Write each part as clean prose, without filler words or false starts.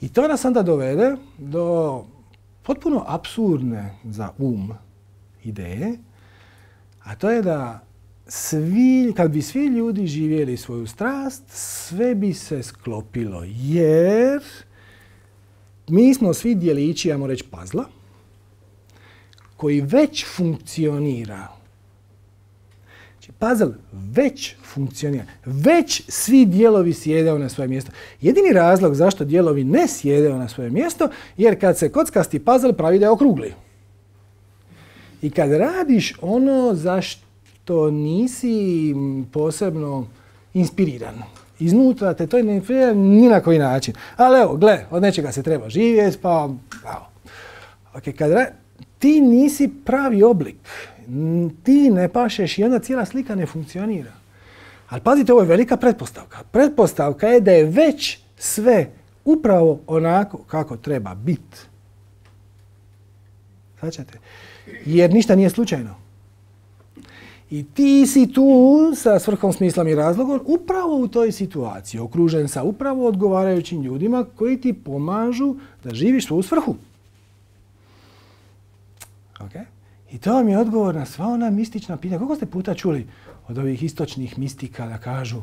I to nas onda dovede do potpuno apsurdne za ideje, a to je da kad bi svi ljudi živjeli svoju strast, sve bi se sklopilo, jer mi smo svi dijelići, ajmo reći, puzzla, koji već funkcionira. Znači, puzzle već funkcionira. Već svi dijelovi sjedaju na svoje mjesto. Jedini razlog zašto dijelovi ne sjedaju na svoje mjesto, jer kad se kockasti puzzle pravi da je okrugli. I kad radiš ono zašto nisi posebno inspiriran, iznutra te to ne inspirira ni na koji način. Ali evo, gle, od nečega se treba živjeti, pa evo. Okay, ti nisi pravi oblik, ti ne pašeš i onda cijela slika ne funkcionira. Ali pazite, ovo je velika pretpostavka. Pretpostavka je da je već sve upravo onako kako treba biti. Svačate? Jer ništa nije slučajno. I ti si tu sa svrhom, smislom i razlogom upravo u toj situaciji, okružen sa upravo odgovarajućim ljudima koji ti pomažu da živiš svoju svrhu. Okay? I to vam je odgovor na sva ona mistična pitanja. Koliko ste puta čuli od ovih istočnih mistika da kažu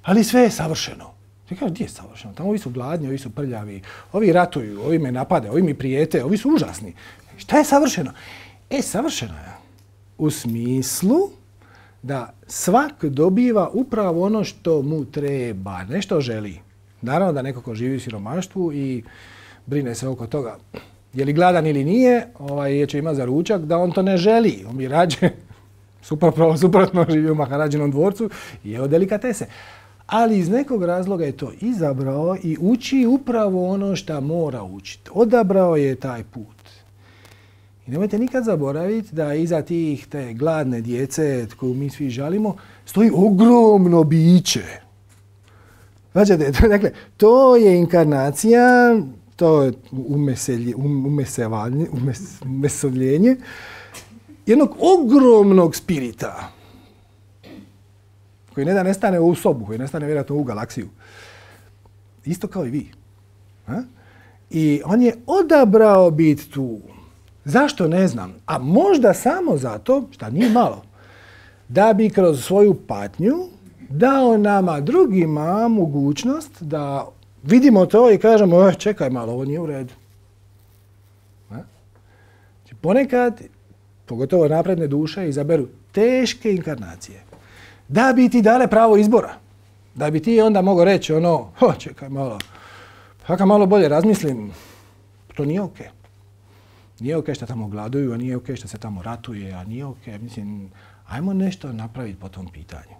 ali sve je savršeno? Ti kažeš, gdje je savršeno? Tamo ovi su gladni, ovi su prljavi, ovi ratuju, ovi me napade, ovi mi prijete, ovi su užasni. Šta je savršeno? Savršeno je u smislu da svak dobiva upravo ono što mu treba, nešto želi. Naravno da neko ko živi u siromaštvu i brine se oko toga je li gladan ili nije, je će ima za ručak, da on to ne želi. On bi rađe, suprotno živi u Maharađinom dvorcu i jeo delikatese. Ali iz nekog razloga je to izabrao i uči upravo ono što mora učiti. Odabrao je taj put. I nemojte nikad zaboraviti da iza te gladne djece koju mi svi žalimo stoji ogromno biće. Znači, dakle, to je inkarnacija, to je umesovljenje jednog ogromnog spirita koji ne da nestane u sobu, koji nestane vjerojatno u galaksiju. Isto kao i vi. I on je odabrao biti tu. Zašto? Ne znam. A možda samo zato, šta nije malo, da bi kroz svoju patnju dao nama drugima mogućnost da vidimo to i kažemo, čekaj malo, ovo nije u redu. Znači, ponekad, pogotovo napredne duše, izaberu teške inkarnacije. Da bi ti dale pravo izbora. Da bi ti onda mogao reći čekaj malo, kad malo bolje razmislim, to nije okej. Nije okej što tamo gladuju, a nije okej što se tamo ratuje, a nije okej. Mislim, ajmo nešto napraviti po tom pitanju.